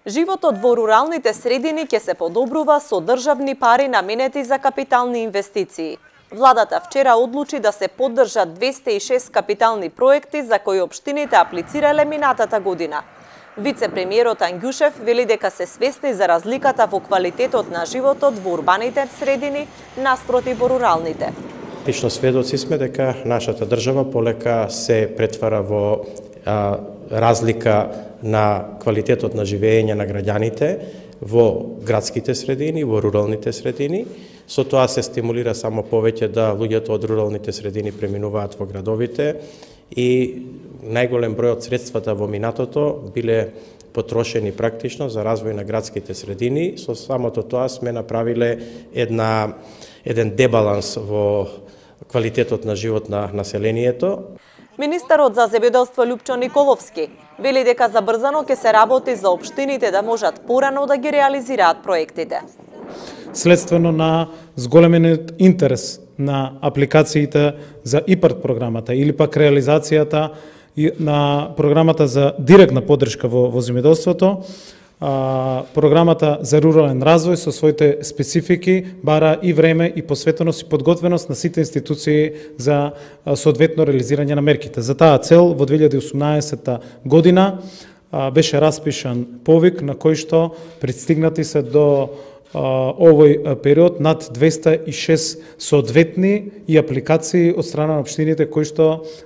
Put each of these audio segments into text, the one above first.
Животот во руралните средини ќе се подобрува со државни пари наменети за капитални инвестиции. Владата вчера одлучи да се поддржат 206 капитални проекти за кои општините аплицирале минатата година. Вице-премиерот Ангјушев вели дека се свесни за разликата во квалитетот на животот во урбаните средини наспроти во руралните. Лично сведоци сме дека нашата држава полека се претвара во разлика на квалитетот на живење на граѓаните во градските средини, во руралните средини. Со тоа се стимулира само повеќе да луѓето од руралните средини преминуваат во градовите и најголем број од средствата во минатото биле потрошени практично за развој на градските средини. Со самото тоа сме направиле еден дебаланс во квалитетот на живот на населението. Министерот за земјоделство Љупчо Николовски вели дека забрзано ќе се работи за општините да можат порано да ги реализираат проектите. Следствено на зголемениот интерес на апликациите за ИПАРД програмата или пак реализацијата на програмата за директна поддршка во земјоделството, програмата за рурален развој со своите специфики бара и време и посветеност и подготвеност на сите институции за соодветно реализирање на мерките. За таа цел во 2018 година беше распишан повик на кој што пристигнати се до овој период над 206 соодветни и апликации од страна на општините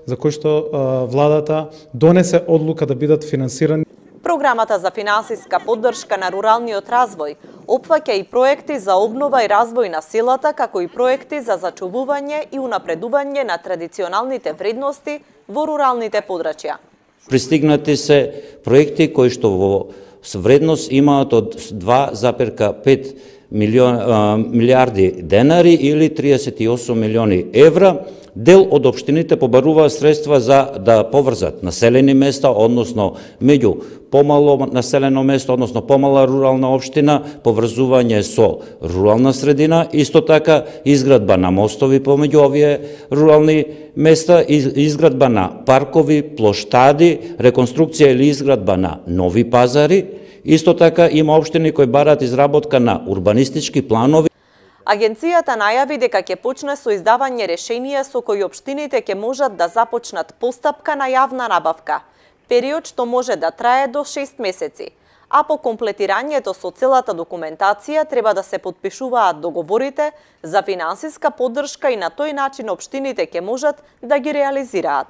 за кои што владата донесе одлука да бидат финансирани. Програмата за финансиска поддршка на руралниот развој опфаќа и проекти за обнова и развој на селата, како и проекти за зачувување и унапредување на традиционалните вредности во руралните подрачја. Пристигнати се проекти кои што во вредност имаат од 2,5 милиарди денари или 38 милиони евра. Дел од општините побаруваат средства за да поврзат населени места, односно меѓу помало населено место, односно помала рурална општина, поврзување со рурална средина, исто така изградба на мостови помеѓу овие рурални места, изградба на паркови, плоштади, реконструкција или изградба на нови пазари. Исто така има општини кои бараат изработка на урбанистички планови. Агенцијата најави дека ќе почне со издавање решенија со кои општините ќе можат да започнат постапка на јавна набавка, период што може да трае до 6 месеци, а по комплетирањето со целата документација треба да се потпишуваат договорите за финансиска поддршка и на тој начин општините ќе можат да ги реализираат.